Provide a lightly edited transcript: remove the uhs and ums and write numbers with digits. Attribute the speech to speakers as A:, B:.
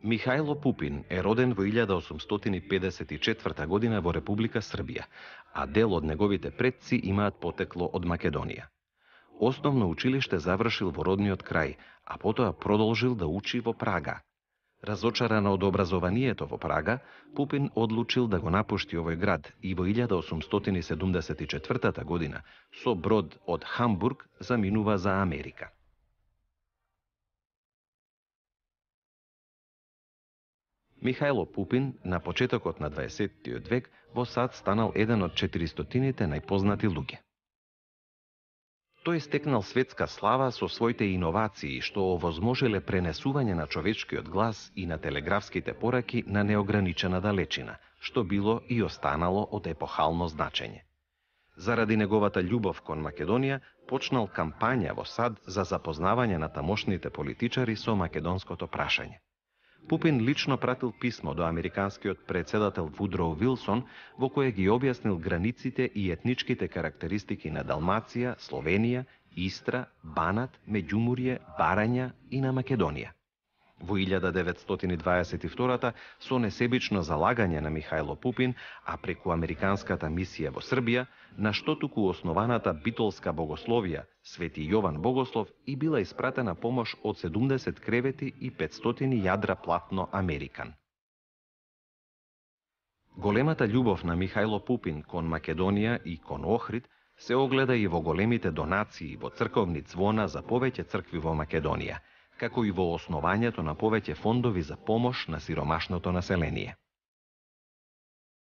A: Михајло Пупин е роден во 1854 година во Република Србија, а дел од неговите предци имаат потекло од Македонија. Основно училиште завршил во родниот крај, а потоа продолжил да учи во Прага. Разочаран од образованието во Прага, Пупин одлучил да го напушти овој град и во 1874 година со брод од Хамбург заминува за Америка. Михајло Пупин на почетокот на 20 век во САД станал еден од 400-тините најпознати луѓе. Тој стекнал светска слава со своите иновации што овозможиле пренесување на човечкиот глас и на телеграфските пораки на неограничена далечина, што било и останало од епохално значење. Заради неговата љубов кон Македонија, почнал кампања во САД за запознавање на тамошните политичари со македонското прашање. Пупин лично пратил писмо до американскиот председател Вудроу Вилсон во кое ги објаснил границите и етничките карактеристики на Далмација, Словенија, Истра, Банат, Меѓумурје, Барања и на Македонија. Во 1922 со несебично залагање на Михајло Пупин, а преку американската мисија во Србија, на што туку основаната битолска богословија Свети Јован Богослов и била испратена помош од 70 кревети и 500 јадра платно Американ. Големата љубов на Михајло Пупин кон Македонија и кон Охрид се огледа и во големите донации во црковни ѕвона за повеќе цркви во Македонија, како и во основањето на повеќе фондови за помош на сиромашното население.